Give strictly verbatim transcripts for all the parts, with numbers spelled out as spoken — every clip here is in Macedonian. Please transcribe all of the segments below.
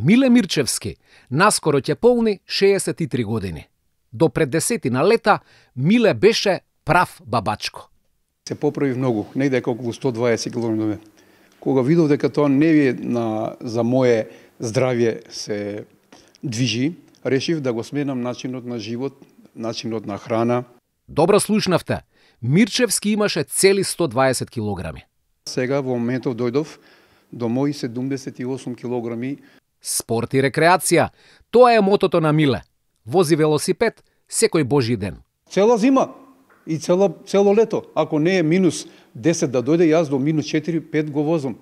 Миле Мирчевски наскоро ќе полни шеесет и три години. До пред десетина лета Миле беше прав бабачко. Се поправи многу, негде околу сто дваесет килограми. Кога видов дека тоа не е на, за мое здравје се движи, решив да го сменам начинот на живот, начинот на храна. Добро слушнавте. Мирчевски имаше цели сто дваесет килограми. Сега во моментов дојдов до мои седумдесет и осум килограми. Спорт и рекреација, тоа е мотото на Миле. Вози велосипед секој божи ден. Цела зима и цело, цело лето. Ако не е минус десет да дојде, јас до минус четири пет го возам.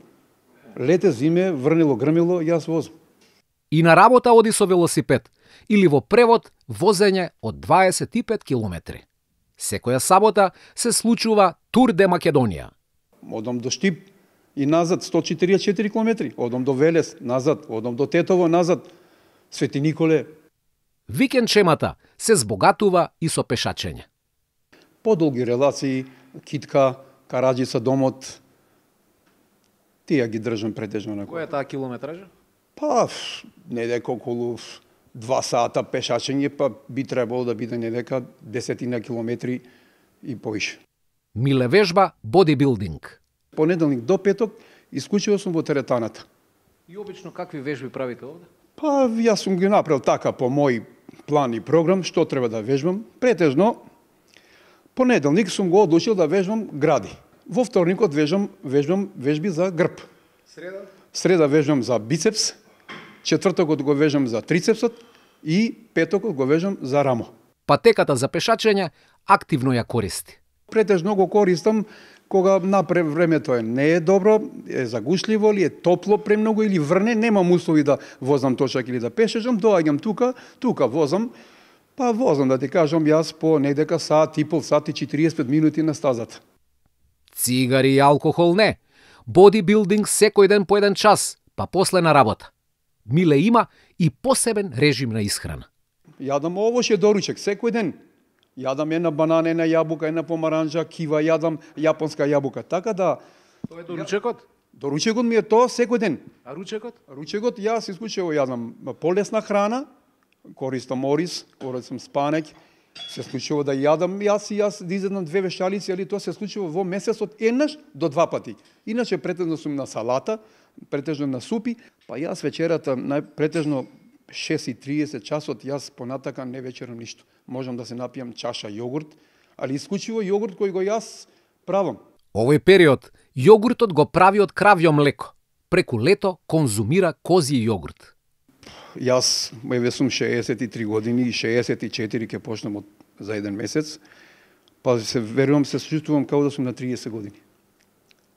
Лете, зиме, врнело, грмело, јас возам. И на работа оди со велосипед, или во превод возење од дваесет и пет километри. Секоја сабота се случува Тур де Македонија. Одам до Штип и назад сто четиридесет и четири километри, одам до Велес, назад, одам до Тетово, назад, Свети Николе. Викендчемата се збогатува и со пешачење. Подолги релации, Китка, Караджица, Домот, тие ги држам претежно на. Која е таа километража? Па, недека околу два сата пешачење, па би требало да биде недека десетина километри и поише. Миле вежба бодибилдинг. Понеделник до петок исклучиво сум во теретаната. И обично какви вежби правите овде? Па, јас сум ги направил така по мој план и програм, што треба да вежбам. Претежно, понеделник сум го одлучил да вежбам гради. Во вторникот вежбам, вежбам вежби за грб. Среда? Среда вежбам за бицепс, четвртокот го вежбам за трицепсот и петокот го вежбам за рамо. Патеката за пешачење активно ја користи. Претежно го користам кога напред времето е не е добро, е загушливо или е топло премногу или врне, немам услови да возам тошак или да пешачам, доаѓам тука, тука возам, па возам да ти кажам јас по недека сат и пол, сат и четириесет минути на стазата. Цигари и алкохол не. Бодибилдинг секој ден по еден час, па после на работа. Миле има и посебен режим на исхрана. Јадам овоше доручек секој ден. Јадам една банана, една јабука, една помаранџа, кива, јадам јапонска јабука. Така да... Тоа е доручекот? Доручекот ми е тоа секој ден. А ручекот? Ручекот јас исклучиво јадам полесна храна, користам ориз, користам спанек, се случува да јадам јас и јас да изедам две вешалици, али тоа се случува во месецот еднаш до два пати. Иначе претежно сум на салата, претежно на супи, па јас вечерата претежно шест и триесет часот јас понатака не вечерам ништо. Можам да се напијам чаша јогурт, али исклучиво јогурт кој го јас правам. Овој период јогуртот го прави од кравјо млеко. Преку лето конзумира козји јогурт. Јас еве сум шеесет и три години и шеесет и четири ќе почнам од за еден месец. Па се верувам се чувствувам како да сум на триесет години.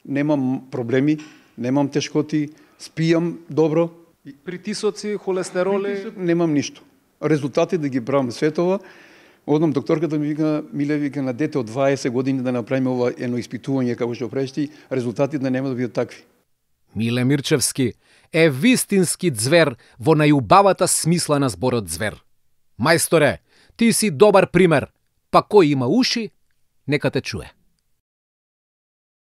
Немам проблеми, немам тешкоти, спијам добро. Притисоци, холестероли, Притисок, немам ништо. Резултати да ги правам светова. Одам докторката ми вика, Миле, вика на дете од дваесет години да направиме ова едно испитување како што правиш ти, резултатите нема да бидат такви. Миле Мирчевски е вистински ѕвер во најубавата смисла на зборот ѕвер. Мајсторе, ти си добар пример, па кој има уши, нека те чуе.